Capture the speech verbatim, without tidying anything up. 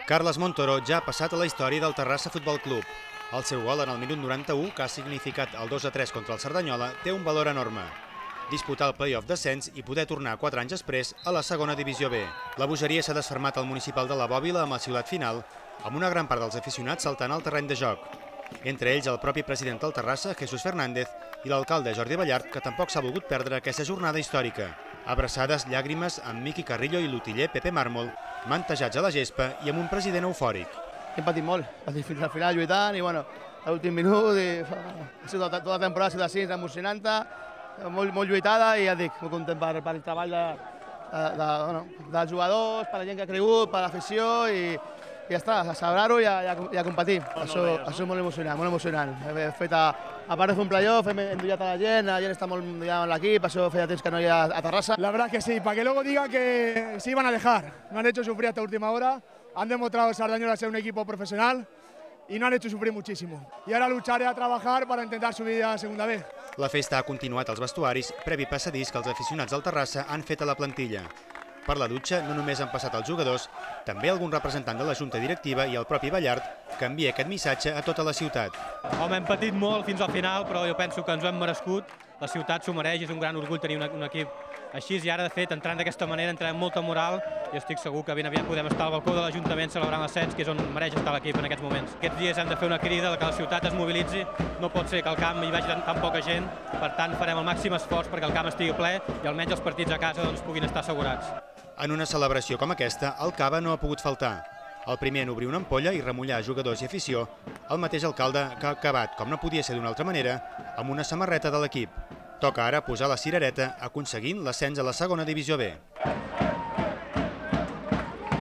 Carles Montoro ja ha passat a la història del Terrassa Futbol Club. El seu gol en el minut noranta-u, que ha significat el dos a tres contra el Cerdanyola, té un valor enorme. Disputar el play-off descens i poder tornar quatre anys després a la segona divisió B. La bogeria s'ha desfermat al municipal de la Bòbila amb el xiulat final, amb una gran part dels aficionats saltant al terreny de joc. Entre ells el propi president del Terrassa, Jesús Fernández, i l'alcalde Jordi Ballart, que tampoc s'ha volgut perdre aquesta jornada històrica. Abraçades, llàgrimes amb Miqui Carrillo i l'utiller Pepe Mármol, mantejats a la gespa i amb un president eufòric. Hem patit molt, patit fins al final lluitant i bueno, a l'últim minut i ha sigut tota la temporada ha sigut així, emocionant, molt, molt lluitada i ja dic, molt content per, per el treball de, de, de, bueno, dels jugadors, per la gent que ha cregut, per l'afició i, i ja està, a celebrar-ho i, a, i a competir. No, això, no, això és molt emocionant, molt emocionant. He fet a, a part de fer un playoff, hem endollat a la gent, la gent està molt endollat en l'equip, això feia temps que no hi ha a Terrassa. La verdad es que sí, para que luego digan que se iban a dejar. No han hecho sufrir hasta última hora, han demostrado Sardañola ser un equipo profesional y no han hecho sufrir muchísimo. Y ahora lucharé a trabajar para intentar subir a segunda B. La festa ha continuat als vestuaris, previ passadís que els aficionats del Terrassa han fet a la plantilla. Per la dutxa no només han passat els jugadors, també algun representant de la Junta Directiva i el propi Ballart, que envia aquest missatge a tota la ciutat. Home, hem patit molt fins al final, però jo penso que ens ho hem merescut. La ciutat s'ho mereix, és un gran orgull tenir un, un equip així, i ara, de fet, entrant d'aquesta manera, entrem amb molta moral i estic segur que ben aviat podem estar al balcó de l'Ajuntament celebrant l'ascens, que és on mereix estar l'equip en aquests moments. Aquests dies hem de fer una crida que la ciutat es mobilitzi, no pot ser que al camp hi vagi tan, tan poca gent, per tant farem el màxim esforç perquè el camp estigui ple i almenys els partits a casa doncs, puguin estar assegurats. En una celebració com aquesta, el cava no ha pogut faltar. El primer en obrir una ampolla i remullar jugadors i afició, el mateix alcalde que ha acabat, com no podia ser d'una altra manera, amb una samarreta de l'equip. Toca ara posar la cirereta aconseguint l'ascens a la segona divisió B.